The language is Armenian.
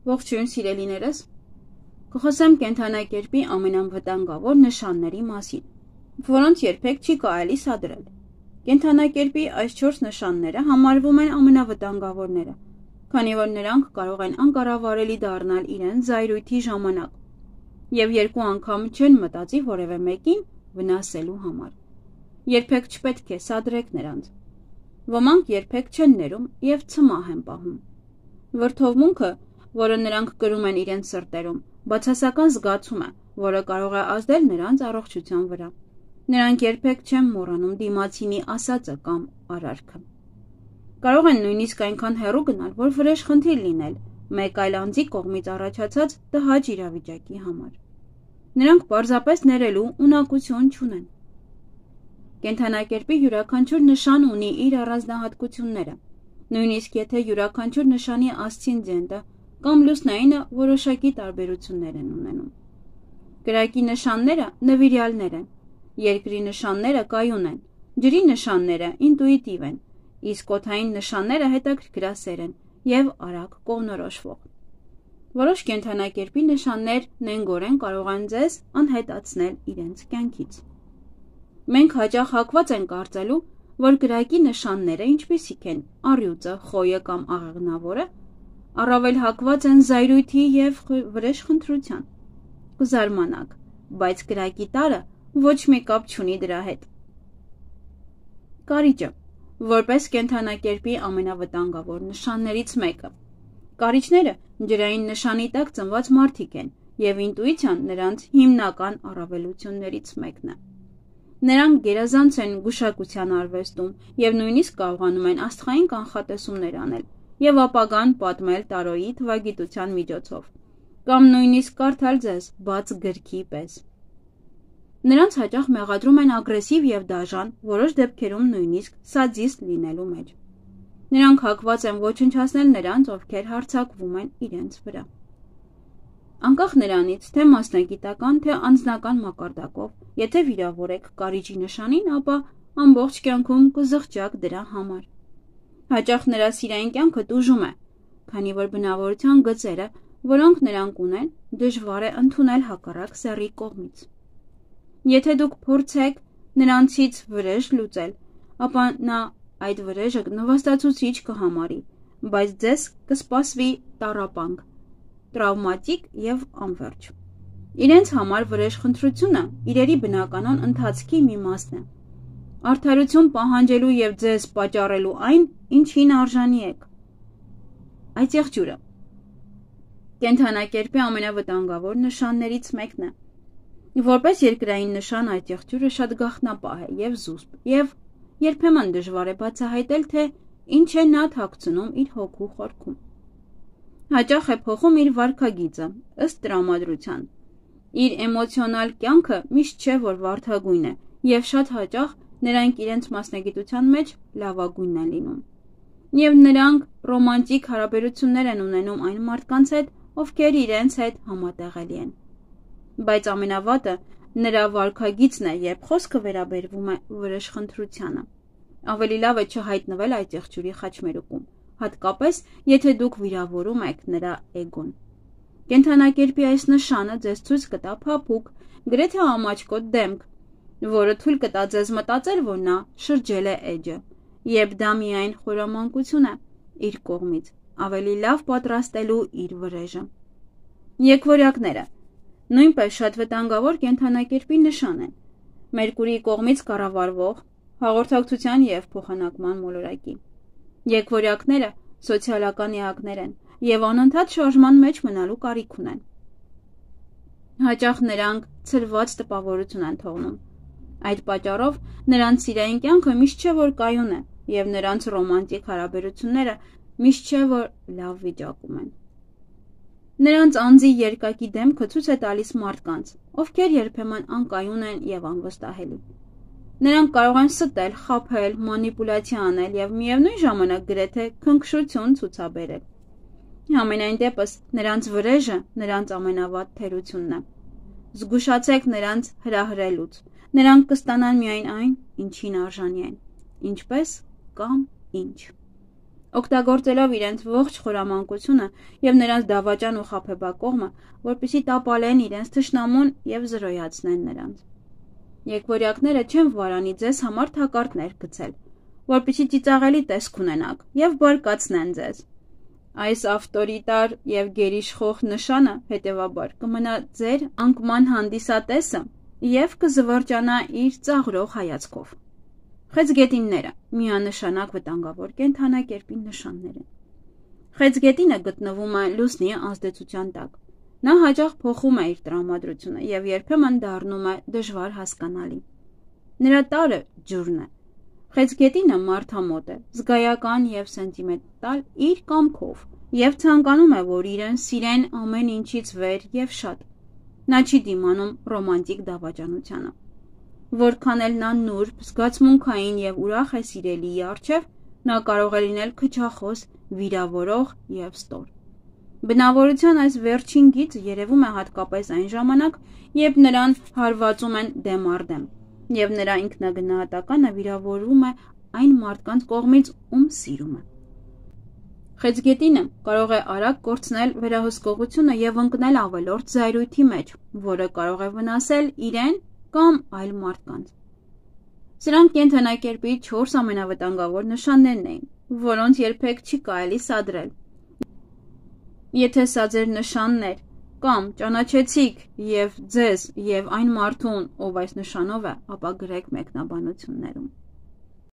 Ողջույն սիրելիներս, կխոսեմ կենդանակերպի ամենանվտանգավոր նշանների մասին, որոնց երբեք չի կարելի սադրել։ Կենդանակերպի այս 4 նշանները համարվում են ամենավտանգավորները, քանի որ նրանք կարող են անկառավարելի դառնալ իրենց զայրույթի ժամանակ, եւ երկու անգամ չեն մտածի որևէ մեկին վնասելու համար։ Երբեք չպետք է սադրեք նրանց։ Ոմանք երբեք չեն ներում եւ ցմահ են պահում։ Վրդովմունքը, որը նրանք կրում են իրենց սրտերում, բացասական զգացում է, որը կարող է ազդել նրանց առողջության վրա։ Նրանք երբեք չեն մոռանում դիմացինի ասածը կամ արարքը։ Կարող են նույնիսկ այնքան հեռու գնալ, որ վրեժխնդիր լինել մեկ այլ անձի կողմից առաջացած տհաճ իրավիճակի համար։ Նրանք պարզապես ներելու ունակություն չունեն։ Կենդանակերպի յուրաքանչյուր նշան ունի իր առանձնահատկությունները, նույնիսկ եթե յուրաքանչյուր նշանի ասցենդենտը կամ լուսնայինը որոշակի տարբերություններ են ունենում։ Կրակի նշանները նվիրյալներ են, երկրի նշանները կայուն են, ջրի նշանները ինտուիտիվ են, իսկ օդային նշանները հետաքրքրասեր են և արագ կողմնորոշվող։ Որոշ կենդանակերպի նշաններ նենգորեն կարող են ձեզ անհետացնել իրենց կյանքից։ Մենք հաճախ հակված ենք կարծելու, որ կրակի նշանները, ինչպիսիք են առյուծը, խոյը կամ աղեղնավորը, առավել հակված են զայրույթի և վրեժխնդրության։ Կզարմանաք, բայց կրակի տարրը ոչ մի կապ չունի դրա հետ։ Կարիճը, որպես կենդանակերպի ամենավտանգավոր նշաններից մեկը։ Կարիճները ջրային նշանի տակ ծնված մարդիկ են, և ինտուիցիան նրանց հիմնական առավելություններից մեկն է։ Նրանք գերազանց են գուշակության արվեստում և նույնիսկ կարողանում են աստղային կանխատեսումներ անել և ապագան պատմել տարոյի թվագիտության միջոցով, կամ նույնիսկ կարդալ ձեզ բաց գրքի պես։ Նրանց հաճախ մեղադրում են ագրեսիվ և դաժան, որոշ դեպքերում նույնիսկ սադիստ լինելու մեջ։ Նրանք հակված են ոչնչացնել նրանց, ովքեր հարձակվում են իրենց վրա։ Անկախ նրանից, թե մասնագիտական, թե անձնական մակարդակով, եթե վիրավոր եք կարիճի նշանին, ապա ամբողջ կյանքում կզղջաք դրա համար։ Հաճախ նրա սիրային կյանքը տուժում է, քանի որ բնավորության գծերը, որոնք նրանք ունեն, դժվար է ընդունել հակառակ սեռի կողմից։ Եթե դուք փորձեք նրանցից վրեժ լուծել, ապա նա այդ վրեժը նվաստացուցիչ կհամարի, բայց ձեզ կսպասվի տառապանք, տրավմատիկ և անվերջ։ Իրենց համար վրեժխնդրությունը իրերի բնականon ընթացքի մի մասն է։ Արդարություն պահանջելու և ձեզ պատճառելու այն, ինչին արժանի եք։ Այծեղջյուրը կենդանակերպի ամենավտանգավոր նշաններից մեկն է։ Որպես երկրային նշան այծեղջյուրը շատ գաղտնապահ է և զուսպ, և երբեմն դժվար է բացահայտել, թե ինչ է նա թաքցնում իր հոգու խորքում։ Հաճախ է փոխում իր վարքագիծը, ըստ տրամադրության։ Իր էմոցիոնալ կյանքը միշտ չէ, որ վարդագույն է, և շատ հաճախ նրանք իրենց մասնագիտության մեջ լավագույնն են լինում։ Եվ նրանք ռոմանտիկ հարաբերություններ են ունենում այն մարդկանց հետ, ովքեր իրենց հետ համատեղելի են։ Բայց ամենավատը նրա վարքագիծն է, երբ խոսքը վերաբերվում է վրեժխնդրությանը։ Ավելի լավ է չհայտնվել այծեղջյուրի խաչմերուկում, հատկապես եթե դուք վիրավորում եք նրա էգոն։ Կենդանակերպի այս նշանը ձեզ ցույց կտա փափուկ, գրեթե ամաչկոտ դեմք, որը թույլ կտա ձեզ մտածել, որ նա շրջել է էջը, երբ դա միայն խորամանկություն է իր կողմից, ավելի լավ պատրաստելու իր վրեժը։ Եկվորյակները նույնպես շատ վտանգավոր կենդանակերպի նշան են, Մերկուրիի կողմից կառավարվող հաղորդակցության և փոխանակման մոլորակի։ Եկվորյակները սոցիալական էակներ են և անընդհատ շարժման մեջ մնալու կարիք ունեն։ Հաճախ նրանք ցրված տպավորություն են թողնում։ Այդ պատճառով նրանց սիրային կյանքը միշտ չէ, որ կայուն է, և նրանց ռոմանտիկ հարաբերությունները միշտ չէ, որ լավ վիճակում են։ Նրանց անձի երկակի դեմքը ցույց է տալիս մարդկանց, ովքեր երբեմն անկայուն են և անվստահելի։ Նրանք կարող են ստել, խաբել, մանիպուլյացիա անել և միևնույն ժամանակ գրեթե քնքշություն ցուցաբերել։ Համենայն դեպս, նրանց վրեժը նրանց ամենավատ թերությունն է։ Զգուշացեք նրանց հրահրելուց։ Նրանք կստանան միայն այն, ինչին արժանի են, ինչպես կամ ինչ։ օգտագործելով իրենց ողջ խորամանկությունը և նրանց դավաճան ու խաբեբակողմը, որպեսզի տապալեն իրենց թշնամուն և զրոյացնեն նրանց։ Եկվորյակները չեն վարանի ձեզ համար թակարդներ գցել, որպեսզի ծիծաղելի տեսք ունենաք և բարկացնեն ձեզ։ Այս ավտորիտար և գերիշխող նշանը, հետևաբար, կմնա ձեր անկման հանդիսատեսը և կզվրջանա իր ծաղրող հայացքով։ Խեցգետինները միանշանակ վտանգավոր կենդանակերպի նշաններ են։ Խեցգետինը գտնվում է լուսնի ազդեցության տակ։ Նա հաճախ փոխում է իր տրամադրությունը և երբեմն դառնում է դժվար հասկանալի։ Նրա տարրը ջուրն է։ Խեցգետինը մարդամոտ է, զգայական և սենտիմենտալ իր կամքով և ցանկանում է, որ իրեն սիրեն ամեն ինչից վեր և շատ։ Նա չի դիմանում ռոմանտիկ դավաճանությանը։ Որքան էլ նա նուրբ, զգացմունքային և ուրախ է սիրելիի առջև, նա կարող է լինել քչախոս, վիրավորող և ստոր։ Բնավորության այս վերջին գիծը երևում է հատկապես այն ժամանակ, երբ նրան հարվածում են դեմ առ դեմ, և նրա ինքնագնահատականը վիրավորվում է այն մարդկանց կողմից, ում սիրում է։ Խեցգետինը կարող է արագ կորցնել վերահսկողությունը և ընկնել ավելորդ զայրույթի մեջ, որը կարող է վնասել իրեն կամ այլ մարդկանց։ Սրանք կենդանակերպի 4 ամենավտանգավոր նշաններն էին, որոնց երբեք չի կարելի սադրել։ Եթե սա ձեր նշանն էր, կամ ճանաչեցիք ձեզ և այն մարդուն, ով այս նշանով է, ապա գրեք մեկնաբանություններում։